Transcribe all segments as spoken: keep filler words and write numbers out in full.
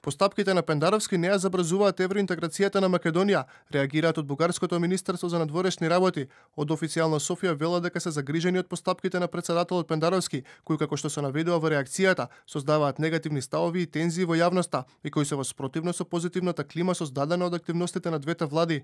Постапките на Пендаровски не ја забрзуваат евроинтеграцијата на Македонија, реагираат од Бугарското министерство за надворешни работи. Од официјално Софија велат дека се загрижени од постапките на претседателот Пендаровски, кои како што се наведува во реакцијата, создаваат негативни ставови и тензии во јавноста и кои се во спротивно со позитивната клима создадена од активностите на двете влади.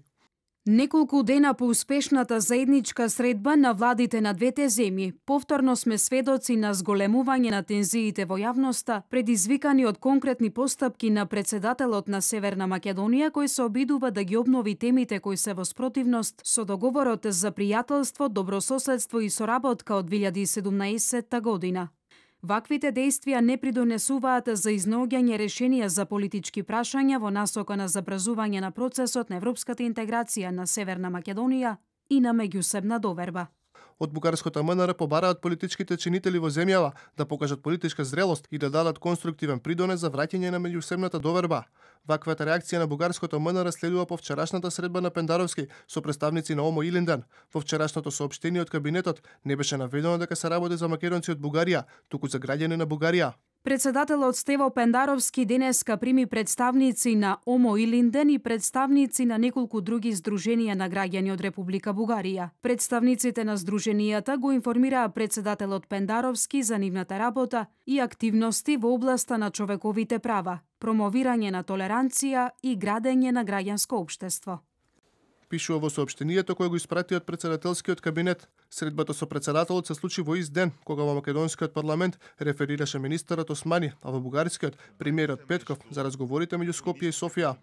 Неколку дена по успешната заедничка средба на владите на двете земји, повторно сме сведоци на зголемување на тензиите во јавноста, предизвикани од конкретни постапки на претседателот на Северна Македонија, кој се обидува да ги обнови темите кои се во спротивност со договорот за пријателство, добрососедство и соработка од две илјади и седумнаесетта година. Ваквите действија не придонесуваат за изнаоѓање решенија за политички прашања во насока на забрзување на процесот на европската интеграција на Северна Македонија и на меѓусебна доверба. Од бугарското МНР побараат политичките чинители во земјава да покажат политичка зрелост и да дадат конструктивен придонес за враќање на меѓусебната доверба. Ваквата реакција на бугарското МНР следува по вчерашната средба на Пендаровски со представници на ОМО Илинден. Во вчерашното соопштение од кабинетот не беше наведено дека се работи за македонци од Бугарија, туку за граѓани на Бугарија. Председателот Стево Пендаровски денеска прими представници на ОМО Илинден и представници на неколку други здруженија на граѓани од Република Бугарија. Представниците на здруженијата го информираа председателот Пендаровски за нивната работа и активности во областа на човековите права, промовирање на толеранција и градење на граѓанско општество. Пишува во соопштенијето кое го испрати од председателскиот кабинет. Средбата со председателот се случи во ист ден, кога во македонскиот парламент реферираше министерот Османи, а во бугарскиот премиерот Петков за разговорите меѓу Скопје и Софија.